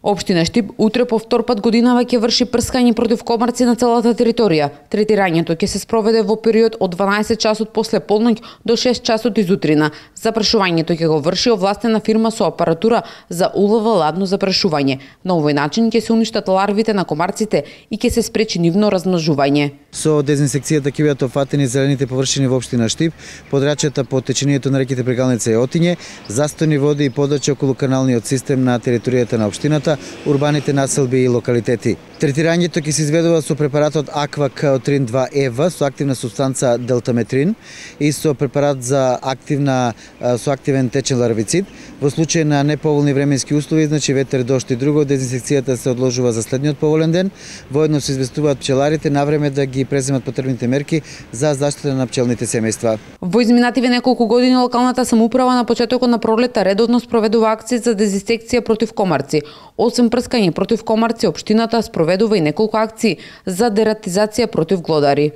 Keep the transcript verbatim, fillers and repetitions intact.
Општина Штип утре по втор пат годинава ќе врши прскање против комарци на целата територија. Третирањето ќе се спроведе во период од дванаесет часот после полноќ до шест часот изутрина. Запрашувањето ќе го врши овластена фирма со апаратура за улов ладно запрашување. На овој начин ќе се уништат ларвите на комарците и ќе се спречи нивно размножување. Со дезинсекцијата ќе бидат опфатени зелените површини во општина Штип, подрачјата по течењето на реките Прегалница и Отиње, застојни води и подача околу каналниот систем на територијата на општината, урбаните населби и локалитети. Третирањето ќе се изведува со препаратот Аква Каотрин два Ева со активна супстанца делтаметрин и со препарат за активна со активен течен ларвицид. Во случај на неповолни временски услови, значи ветер, дожд и друго, дезинсекцијата се одложува за следниот поволен ден. Воедно се известуваат пчеларите на време да ги преземат потребните мерки за заштита на пчелните семејства. Во изминативе неколку години локалната самоуправа на почетокот на пролета редовно спроведува акции за дезинсекција против комарци. Освен прскање против комарци, општината спроведува и неколку акции за дератизација против глодари.